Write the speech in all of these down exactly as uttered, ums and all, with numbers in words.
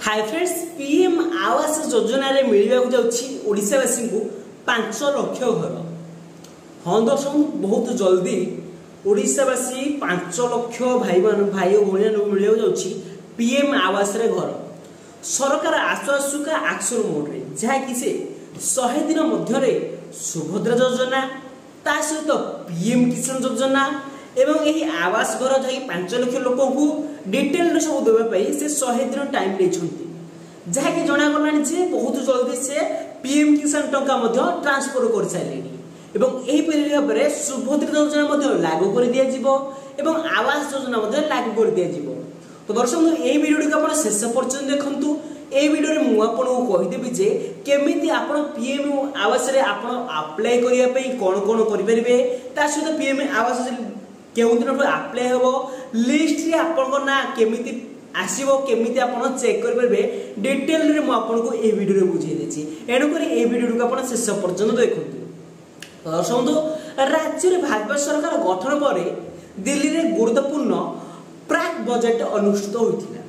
High friends, PM ଆବାସ ଯୋଜନାରେ ମିଳିବାକୁ ଯାଉଛି ଓଡ଼ିଶାବାସୀଙ୍କୁ ପାଞ୍ଚ ଲକ୍ଷ ଘର। ହଁ ଦର୍ଶକ, ବହୁତ ଜଲ୍ଦି ଓଡ଼ିଶାବାସୀ ପାଞ୍ଚ ଲକ୍ଷ ଭାଇମାନ ଭାଇ ଓ ଭଉଣୀମାନଙ୍କୁ ମିଳିବାକୁ ଯାଉଛି ପିଏମ୍ ଆବାସରେ ଘର। ସରକାର ଆସୁ ଆସୁକା ଆକ୍ସନ ମୋଡରେ, ଯାହାକି ସେ ଶହେ ଦିନ ମଧ୍ୟରେ ସୁଭଦ୍ରା ଯୋଜନା, ତା ସହିତ ପିଏମ୍ କିଷାନ ଯୋଜନା ଏବଂ ଏହି ଆବାସ ଘର, ଯାହାକି ପାଞ୍ଚ ଲକ୍ଷ ଲୋକଙ୍କୁ ଡିଟେଲରେ ସବୁ ଦେବା ପାଇଁ ସେ ଶହେ ଦିନ ଟାଇମ୍ ନେଇଛନ୍ତି। ଯାହାକି ଜଣାଗଲାଣି ଯେ ବହୁତ ଜଲ୍ଦି ସେ ପିଏମ୍ କିଷାନ ଟଙ୍କା ମଧ୍ୟ ଟ୍ରାନ୍ସଫର କରିସାରିଲେଣି ଏବଂ ଏହିପରି ଭାବରେ ସୁଭଦ୍ରା ଯୋଜନା ମଧ୍ୟ ଲାଗୁ କରି ଦିଆଯିବ ଏବଂ ଆବାସ ଯୋଜନା ମଧ୍ୟ ଲାଗୁ କରି ଦିଆଯିବ। ତ ଦର୍ଶକ, ଏହି ଭିଡ଼ିଓଟିକୁ ଆପଣ ଶେଷ ପର୍ଯ୍ୟନ୍ତ ଦେଖନ୍ତୁ। ଏହି ଭିଡ଼ିଓରେ ମୁଁ ଆପଣଙ୍କୁ କହିଦେବି ଯେ କେମିତି ଆପଣ ପିଏମ୍ ଆବାସରେ ଆପଣ ଆପ୍ଲାଏ କରିବା ପାଇଁ କ'ଣ କ'ଣ କରିପାରିବେ, ତା ସହିତ ପିଏମ୍ ଆବାସ କେଉଁ ଦିନଠୁ ଆପ୍ଲାଏ ହେବ, ଲିଷ୍ଟରେ ଆପଣଙ୍କ ନାଁ କେମିତି ଆସିବ, କେମିତି ଆପଣ ଚେକ୍ କରିପାରିବେ, ଡିଟେଲରେ ମୁଁ ଆପଣଙ୍କୁ ଏହି ଭିଡ଼ିଓରେ ବୁଝେଇ ଦେଇଛି। ଏଣୁକରି ଏହି ଭିଡ଼ିଓଟିକୁ ଆପଣ ଶେଷ ପର୍ଯ୍ୟନ୍ତ ଦେଖନ୍ତୁ। ଦର୍ଶକ, ରାଜ୍ୟରେ ଭାଜପା ସରକାର ଗଠନ ପରେ ଦିଲ୍ଲୀରେ ଗୁରୁତ୍ୱପୂର୍ଣ୍ଣ ପ୍ରାକ୍ ବଜେଟ୍ ଅନୁଷ୍ଠିତ ହୋଇଥିଲା,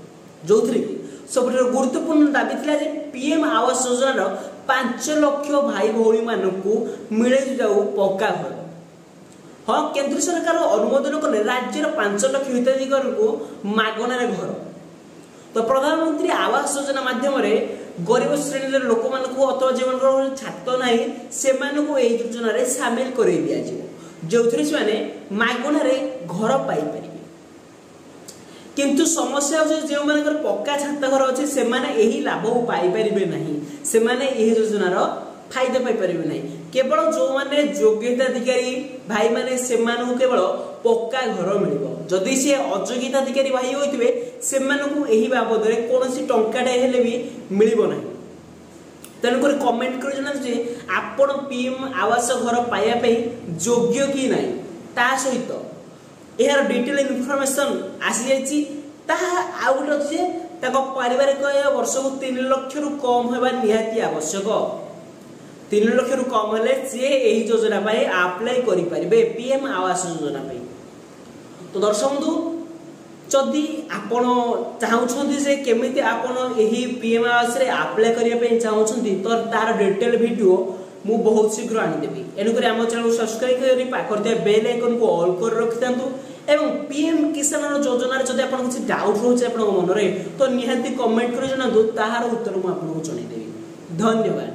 ଯେଉଁଥିରେ କି ସବୁଠାରୁ ଗୁରୁତ୍ୱପୂର୍ଣ୍ଣ ଦାବି ଥିଲା ଯେ ପିଏମ୍ ଆବାସ ଯୋଜନାର ପାଞ୍ଚ ଲକ୍ଷ ଭାଇ ଭଉଣୀମାନଙ୍କୁ ମିଳିଯାଉ ପକ୍କା ଘର। ହଁ, କେନ୍ଦ୍ର ସରକାର ଅନୁମୋଦନ କଲେ ରାଜ୍ୟର ପାଞ୍ଚ ଲକ୍ଷ ହିତାଧିକାରୀଙ୍କୁ ମାଗଣାରେ ଘର। ତ ପ୍ରଧାନମନ୍ତ୍ରୀ ଆବାସ ଯୋଜନା ମାଧ୍ୟମରେ ଗରିବ ଶ୍ରେଣୀର ଲୋକମାନଙ୍କୁ ଅଥବା ଯେଉଁମାନଙ୍କର ଛାତ ନାହିଁ, ସେମାନଙ୍କୁ ଏହି ଯୋଜନାରେ ସାମିଲ କରାଇ ଦିଆଯିବ, ଯେଉଁଥିରେ ସେମାନେ ମାଗଣାରେ ଘର ପାଇପାରିବେ। କିନ୍ତୁ ସମସ୍ୟା ହେଉଛି, ଯେଉଁମାନଙ୍କର ପକ୍କା ଛାତ ଘର ଅଛି ସେମାନେ ଏହି ଲାଭ ପାଇପାରିବେ ନାହିଁ, ସେମାନେ ଏହି ଯୋଜନାର ଫାଇଦା ପାଇପାରିବେ ନାହିଁ। କେବଳ ଯେଉଁମାନେ ଯୋଗ୍ୟତାଧିକାରୀ ଭାଇମାନେ, ସେମାନଙ୍କୁ କେବଳ ପକ୍କା ଘର ମିଳିବ। ଯଦି ସିଏ ଅଯୋଗ୍ୟତାଧିକାରୀ ଭାଇ ହୋଇଥିବେ, ସେମାନଙ୍କୁ ଏହି ବାବଦରେ କୌଣସି ଟଙ୍କାଟେ ହେଲେ ବି ମିଳିବ ନାହିଁ। ତେଣୁକରି କମେଣ୍ଟ କରି ଜଣାନ୍ତୁ ଯେ ଆପଣ ପିଏମ୍ ଆବାସ ଘର ପାଇବା ପାଇଁ ଯୋଗ୍ୟ କି ନାହିଁ। ତା ସହିତ ଏହାର ଡିଟେଲ ଇନଫର୍ମେସନ ଆସିଯାଇଛି। ତାହା ଆଉ ଗୋଟେ ଅଛି ଯେ ତାଙ୍କ ପାରିବାରିକ ଆୟ ବର୍ଷକୁ ତିନି ଲକ୍ଷରୁ କମ୍ ହେବା ନିହାତି ଆବଶ୍ୟକ। ତିନି ଲକ୍ଷରୁ କମ୍ ହେଲେ ସିଏ ଏହି ଯୋଜନା ପାଇଁ ଆପ୍ଲାଏ କରିପାରିବେ, ପିଏମ୍ ଆବାସ ଯୋଜନା ପାଇଁ। ତ ଦର୍ଶକ ବନ୍ଧୁ, ଯଦି ଆପଣ ଚାହୁଁଛନ୍ତି ଯେ କେମିତି ଆପଣ ଏହି ପିଏମ୍ ଆବାସରେ ଆପ୍ଲାଏ କରିବା ପାଇଁ ଚାହୁଁଛନ୍ତି, ତ ତାର ଡିଟେଲ ଭିଡ଼ିଓ ମୁଁ ବହୁତ ଶୀଘ୍ର ଆଣିଦେବି। ଏଣୁକରି ଆମ ଚ୍ୟାନେଲକୁ ସବସ୍କ୍ରାଇବ୍ କରି ପାଖରେ ଥିବା ବେଲ୍ ଆଇକନ୍କୁ ଅଲ୍ କରି ରଖିଥାନ୍ତୁ। ଏବଂ ପିଏମ୍ କିଷାନର ଯୋଜନାରେ ଯଦି ଆପଣଙ୍କ କିଛି ଡାଉଟ୍ ରହୁଛି ଆପଣଙ୍କ ମନରେ, ତ ନିହାତି କମେଣ୍ଟ କରି ଜଣାନ୍ତୁ, ତାହାର ଉତ୍ତର ମୁଁ ଆପଣଙ୍କୁ ଜଣାଇଦେବି। ଧନ୍ୟବାଦ।